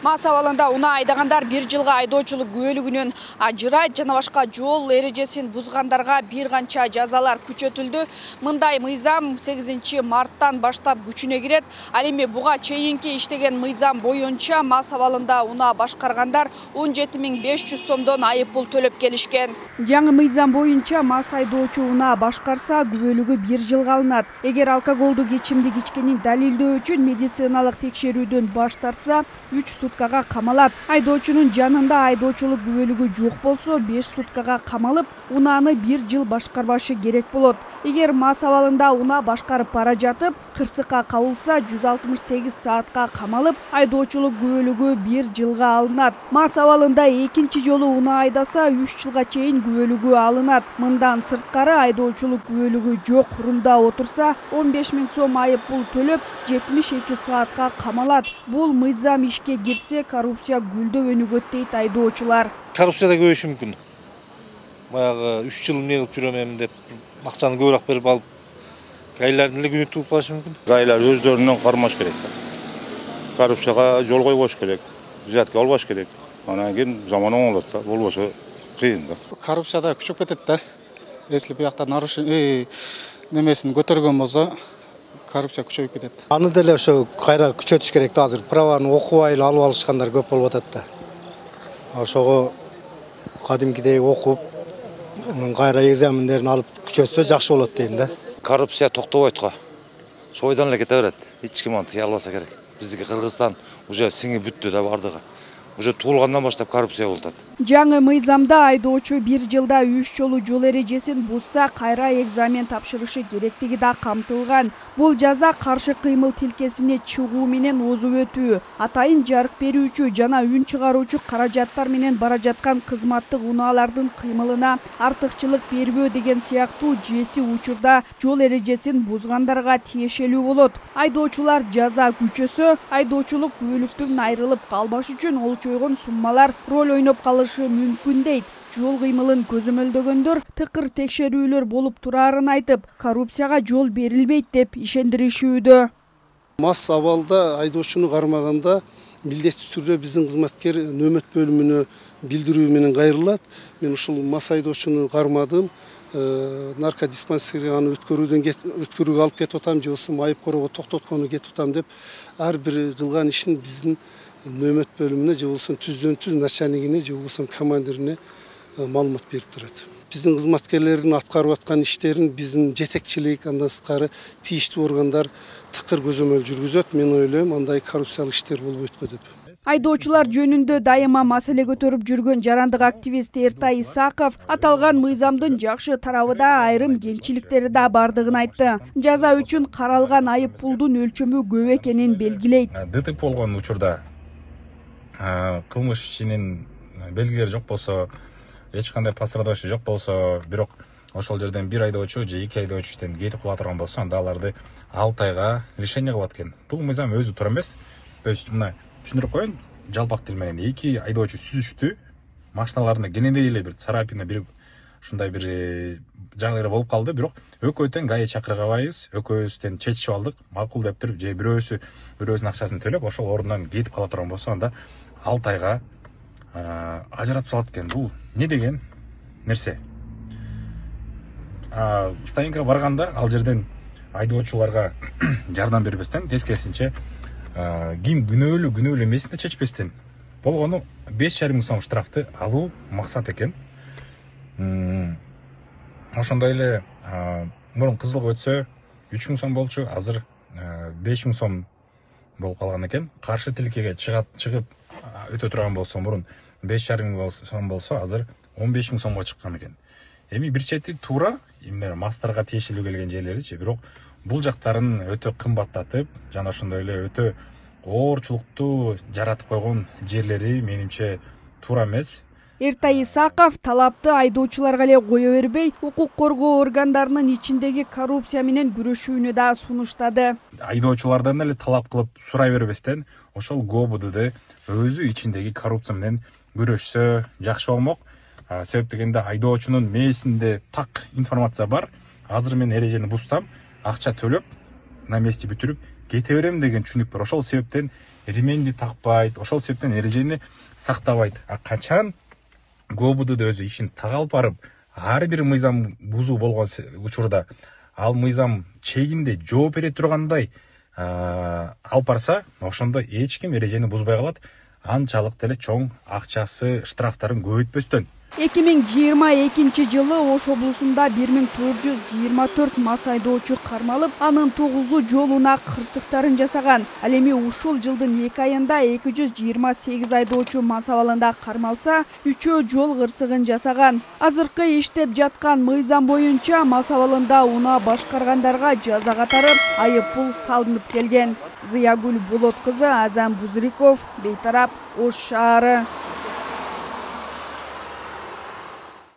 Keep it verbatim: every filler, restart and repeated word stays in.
Мас абалында унаа айдагандар бир жылга айдоочулук күбөлүгүнөн ажырайт жана башка жол эрежесин бузгандарга бир канча жазалар күчөтүлдү. Мындай мыйзам сегизинчи марттан баштап күчүнө кирет. Ал эми буга чейинки иштеген мыйзам боюнча мас абалында унаа башкаргандар он жети миң беш жүз сомдон айып пул төлөп келишкен. Жаңы мыйзам боюнча мас айдоочу унаа башкарса күбөлүгү бир жылга алынат. Эгер алкоголдук ичимдик ичкенин далилдөө үчүн медициналык текшерүүдөн баш тартса, үч суткага камалат. Айдоочунун жанында айдоочулук күбөлүгү жок болсо, беш суткага камалып, унааны бир жыл башкарбашы керек болот. Эгер мас абалында унаа башкарып бара жатып, кырсыкка кабылса, жүз алтымыш сегиз саатка камалып, айдоочулук күбөлүгү бир жылга алынат. Мас абалында экинчи жолу унаа айдаса, үч жылга чейин күбөлүгү алынат. Мындан сырткары айдоочулук күбөлүгү жок рулда отурса, он беш миң сом айып пул төлөп, жетимиш эки саатка камалат. Бул мыйзам ишке кирсе, коррупция гүлдөп өнүгөт дейт айдоочулар. Коррупцияда көбөйүшү мүмкүн. Баягы үч жыл эмне кылып жүрөм деп акчаны көбүрөөк берип алып, гайлардын эле күнү туруп калышы мүмкүн. Гайлар өздөрүнөн кармаш керек. Коррупцияга жол койбош керек, взятка албаш керек. Анан кийин заман оңолот да, болбосо кыйын да. Коррупцияда күчөп кетет да. Если биякта нарушение немесин көтөргөн болсо, коррупция күчөйүп кетет. Аны деле ошо кайра күчөтүш керек да. Азыр праваны окубай эле алып алышкандар көп болуп атат да. Ошого кадимкидей окуп, кайра экзамендерин алып күчөтсө жакшы болот дейм да. Коррупция токтобойт го. Шойдон эле кете берет. Эч ким аны тыя албаса керек. Биздики Кыргызстан уже сиңип бүттү да бардыгы. Уже туулгандан баштап коррупция болуп атат. Жаңы мыйзамда айдоочу бир жылда үч жолу жол эрежесин бузса, кайра экзамен тапшырышы керектиги да камтылган. Бул жаза каршы кыймыл тилкесине чыгуу менен озуп өтүү, атайын жарык берүүчү жана үн чыгаруучу каражаттар менен бара жаткан кызматтык унаалардын кыймылына артыкчылык бербөө деген сыяктуу жети учурда жол эрежесин бузгандарга тиешелүү болот. Айдоочулар жаза күчөсө, айдоочулук күбөлүктөн айрылып калбаш үчүн ол чойгон суммалар роль ойноп калышы мүмкүн дейт. Жол кыймылын көзөмөлдөгөндөр тыкыр текшерүүлөр болуп турарын айтып, коррупцияга жол берилбейт деп ишендиришүүдө. Мас абалда айдоочуну кармаганда милдеттүү түрдө биздин кызматкер нөмөт бөлүмүнө билдирүү менен кайрылат. Мен ушул мас айдоочуну кармадым. Наркодиспансерге аны өткөрүүдөн өткөрүүгө алып кетип атам, же болбосо айып короого токтоткону кетип атам деп ар бир кылган ишин биздин нөмөт бөлүмүнө же болбосо түздөн түз начальнигине же болбосо командирине маалымат берип турат. Биздин кызматкерлердин аткарып аткан иштерин биздин жетекчилик, андан сырткары тийиштүү органдар тыкыр көзөмөл жүргүзөт. Мен ойлойм, андай коррупциялык иштер болбойт го деп. Айдоочулар жөнүндө дайыма маселе көтөрүп жүргөн жарандык активист Эртай Исаков аталган мыйзамдын жакшы тарабыда айрым кемчиликтери да бардыгын айтты. Жаза үчүн каралган айып пулдун өлчөмү көп экенин белгилейт. ДТП болгон учурда кылмыш ишинин белгилери жок болсо, эч кандай пострадавший жок болсо, бирок ошол жерден бир айдоочу же эки айдоочу иштен кетип кала турган болсо, анда аларды алты айга лишение кылат экен. Бул мыйзам өзү туура эмес. То есть мына түшүндүрүп коеюн, жалпак тил менен эки айдоочу сүзүштү, машиналарында кенендей эле бир царапина, бир ушундай бир жагдайлар болуп калды, бирок экөөтөн ГАИ чакыргабайбыз, экөөбүздөн чечип алдык, макул деп туруп, же бирөөсү бирөөсүнүн акчасын төлөп, ошол орундан кетип кала турган болсо, анда алты айга ажыратып салат экен. Бул не деген нерсе? Стоянкага барганда ал жерден айдоочуларга жардам бербестен, тескерисинче ким күнөөлүү күнөөлүү эмесин чечпестен болгону беш жарым миң сом штрафты алуу максат экен. Ошондой эле мурун кызылга өтсө үч миң сом болчу, азыр беш миң сом болуп калган экен. Каршы тилкеге чыгат чыгып өтө турган болсо, мурун беш жарым миң сом болсо, азыр он беш миң сомго чыккан экен. Эми бир чети туура, эмне мастарга тиешелүү келген жерлеричи, бирок бул жактарын өтө кымбаттатып, жана ошондой эле өтө оорчулукту жаратып койгон жерлери менимче туура эмес. Эртай Исаков талапты айдоочуларга эле кое бербей, укук коргоо органдарынын ичиндеги коррупция менен күрөшүүнү да сунуштады. Айдоочулардан эле талап кылып сурай бербестен, ошол ГОБУДды өзү ичиндеги коррупция менен күрөшсө жакшы болмок. Себеп дегенде айдоочунун мээсинде так информация бар. Азыр мен эрежени бузсам, акча төлөп, на месте бүтүрүп кете берем деген түшүнүк бар. Ошол себептен ременди такпайт, ошол себептен эрежени сактабайт. А качан ГОБУД өзү ишин так алып барып, ар бир мыйзам бузуу болгон учурда ал мыйзам чегинде жооп бере тургандай алып барса, ошондо эч ким эрежени бузбай калат. Анчалык деле чоң акчасы, штрафтарын көбөйтпөстөн. эки миң жыйырма экинчи жылы Ош облусунда бир миң төрт жүз жыйырма төрт мас айдоочу кармалып, анын тогузу жолуна кырсыктарын жасаган. Ал эми ушул жылдын эки айында эки жүз жыйырма сегиз айдоочу мас абалында кармалса, үчөө жол кырсыгын жасаган. Азыркы иштеп жаткан мыйзам боюнча мас абалында унаа башкаргандарга жаза катары айып пул салынып келген. Зыягүл Болот кызы, Азам Бузриков, Бейтарап, Ош шаары.